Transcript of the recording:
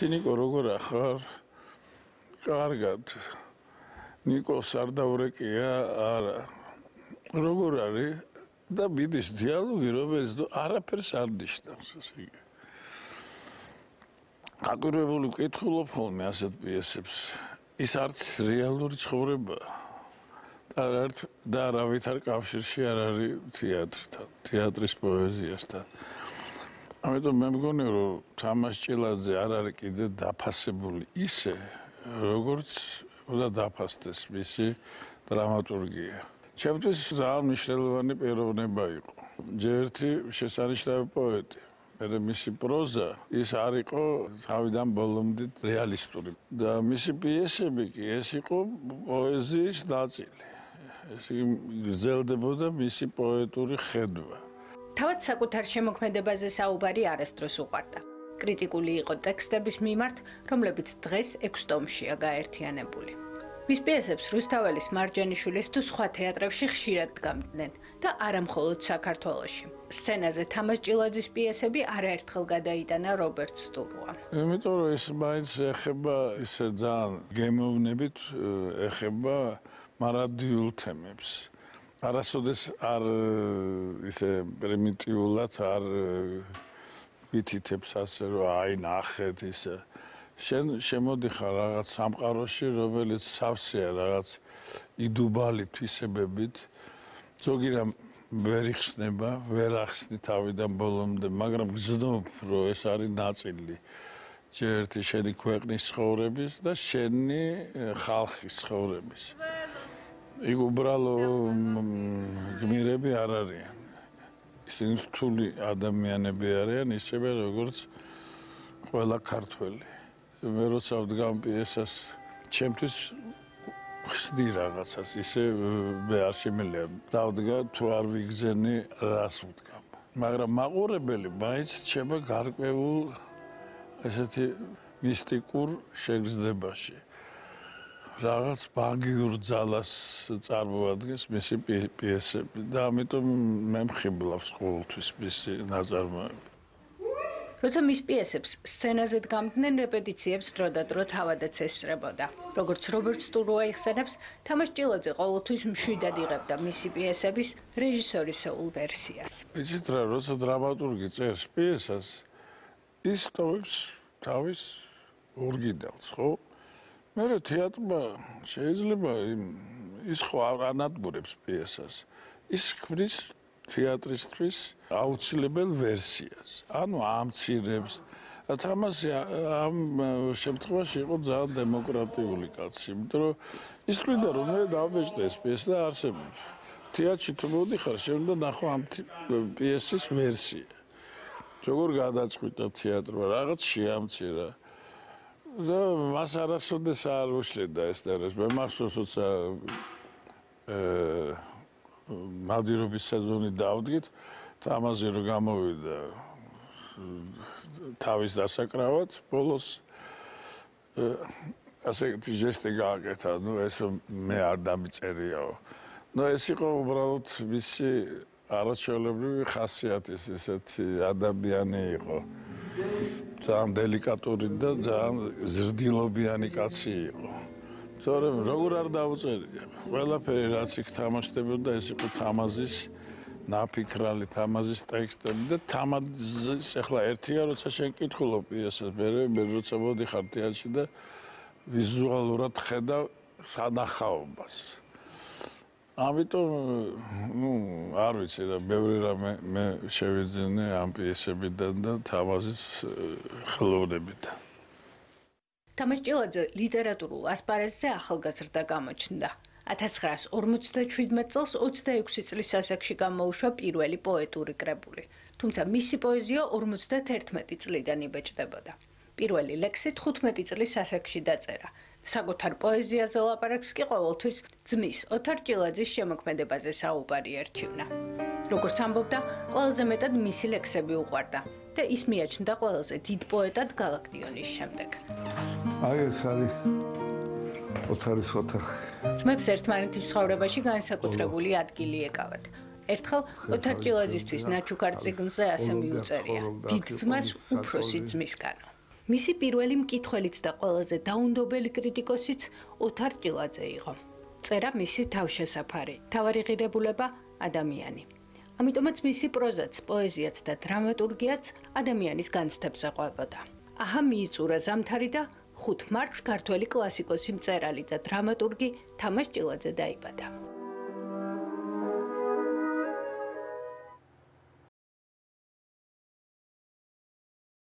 ნიკო როგორ ახარ? კარგად. ნიკო სარდავრეკია, არა. როგორ არის? და მიდის დიალოგი, რომელიც არაფერს არ ნიშნავს, ესე იგი. გაკვირვებული ვკითხულობ ხოლმე ასეთ პიესებს. ის არც რეალური ცხოვრებაა. და არავითარ კავშირში არ არის თეატრთან, თეატრის პოეზიასთან. ამიტომ მე მგონი, რომ თამაზ ჭილაძე არ არის კიდე დაფასებული ისე, როგორც უნდა დაფასდეს მისი დრამატურგია. ჩემთვის ძალიან მნიშვნელოვანი პიროვნება იყო. ჯერთი შესანიშნავი პოეტი. მე მისი პროზა ის არ იყო თავიდან ბოლომდე რეალისტური. და მისი პიესები კი ეს იყო პოეზიის ნაწილი. ეს გრძელდებოდა მისი პოეტური ხედვა. თავად საკუთარ შემოქმედებაზე საუბარი არასდროს უყვარდა. კრიტიკული იყო ტექსტების მიმართ, რომლებიც დღეს 6 ტომშია გაერთიანებული. მის პიესებს რუსთაველის, მარჯანიშვილის თუ სხვა თეატრებში ხშირად დგამდნენ და არა მხოლოდ საქართველოში. სცენაზე თამაზ ჭილაძის პიესები არაერთხელ გადაიტანა რობერტ სტურუამ. იმიტომ რომ ეს მაინც ეხება ისე ძალიან გემოვნებით ეხება მარადიულ თემებს. არასოდეს არ ისე პრიმიტიულად არ ვითითებს ასე რომ აი ნახეთ ისე შენ შემოდიხარ რაღაც სამყაროში, რომელიც სავსეა რაღაც იდუბალი თვისებებით. ზოგი რამ ვერ იხსნება, ვერ ახსნი თავიდან ბოლომდე, მაგრამ გრძნობ, რომ ეს არის ნაწილი ჯერთი შენი ქვეყნის ცხოვრების და შენი ხალხის ცხოვრების. იქ უბრალო გმირები არ არიან. ისინი რთული ადამიანები არიან, ისევე როგორც ყველა ქართველი. მე როცა ვდგამ პიესას, ჩემთვის ხსნი რაღაცას, ისე მე არ შემიძლია დავდგა თუ არ ვიგზენი რას ვდგამ. მაგრამ მაყურებელი მაინც რჩება გარკვეულ ესეთი მისტიკურ შეგრძნებაში. რაღაც მაგიურ ძალას წარმოადგენს მისი პიესები და ამიტომ მე მხიბლავს ყოველთვის მისი ნაწარმოები. როცა მის პიესებს სცენაზე დგამდნენ, რეპეტიციებს დროდადრო თავადაც ესწრებოდა. როგორც რობერტ სტურუა იხსენებს, თამაზ ჭილაძე ყოველთვის მშვიდად იღებდა მისი პიესების რეჟისორისეულ ვერსიას. იცით რა, როცა დრამატურგი წერს პიესას, ის ტოვებს თავის ორიგინალს, ხო? მერე თეატრმა შეიძლება ის ხო არ ანადგურებს პიესას. ის ქმნის თეატრისთვის აუცილებელ ვერსიას. ანუ ამცირებს. თამაზი ამ შემთხვევაში იყო ძალიან დემოკრატიული კაცი, იმიტომ რომ ის თვლიდა, რომ მე დავბეჭდე ეს პიესი და არსებობს. თეატრში თუ მოდიხარ, შენ უნდა ნახო ამ პიესის ვერსია. როგორ გადაწყვიტა თეატრმა, რაღაც შეამცირა. და მას არასოდეს არ უშლიდა ეს და ეს. მე მახსოვს, როცა მადირობის სეზონი დავდგით, თამაზი რო გამოვიდა თავის დასაკრავად, ბოლოს ასეთი ჟესტი გააკეთა, ნუ ეს მე არ დამიწერიაო. ნუ ეს იყო უბრალოდ მისი არაჩვეულებრივი ხასიათის ესეთი ადამიანი იყო. ძალიან დელიკატური და ძალიან ზრდილობიანი კაცი იყო. თორემ როგორ არ დაუწერია. ყველაფერი რაც იქ თამაშდებოდა, ეს იყო თამაზის ნაფიქრალი, თამაზის ტექსტები და თამაზის ახლა ერთია, როცა შენ კითხულობ პიესას, მე როცა მოდიხარ თეატრში და ვიზუალურად ხედავ სანახაობას. ამიტომ, არ ვიცი რა, ბევრი რამე მე შევიძინე ამ პიესებიდან და თამაზის ხელოვნებიდან. თამაზ ჭილაძე ლიტერატურულ ასპარეზზე ახალგაზრდა გამოჩნდა. 1957 წელს 26 წლის ასაკში გამოუშვა პირველი პოეტური კრებული, თუმცა მისი პოეზია 51 წლიდან იბეჭდებოდა. პირველი ლექსი 15 წლის ასაკში დაწერა. საკუთარ პოეზიაზე ლაპარაკს კი ყოველთვის ძმის ოთარ ჭილაძის შემოქმედებაზე საუბარი ერჩივნა. როგორც ამბობდა, ყველაზე მეტად მისი ლექსები უყვარდა და ის მიაჩნდა ყველაზე დიდ პოეტად გალაკტიონის შემდეგ. აი ეს არის ოთარის ოთახი. ძმებს ერთმანეთის ცხოვრებაში განსაკუთრებული ადგილი ეკავათ. ერთხელ ოთარ ჭილაძისთვის ნაჩუქარ წიგნზე ასე მიუწერია: დიდ ძმას უფროსი ძმისგანო. მისი პირველი მკითხველიც და ყველაზე დაუნდობელი კრიტიკოსიც ოთარ ჭილაძე იყო. წერა მისი თავშესაფარი, თავარი ღირებულება ადამიანი. ამიტომაც მისი პროზაც, პოეზიაც და დრამატურგიაც ადამიანის განცდებზე ყვებოდა. აჰა მიიწურა ზამთარი და 5 მარტს ქართველი კლასიკოსი, მწერალი და დრამატურგი თამაზ ჭილაძე დაიბადა.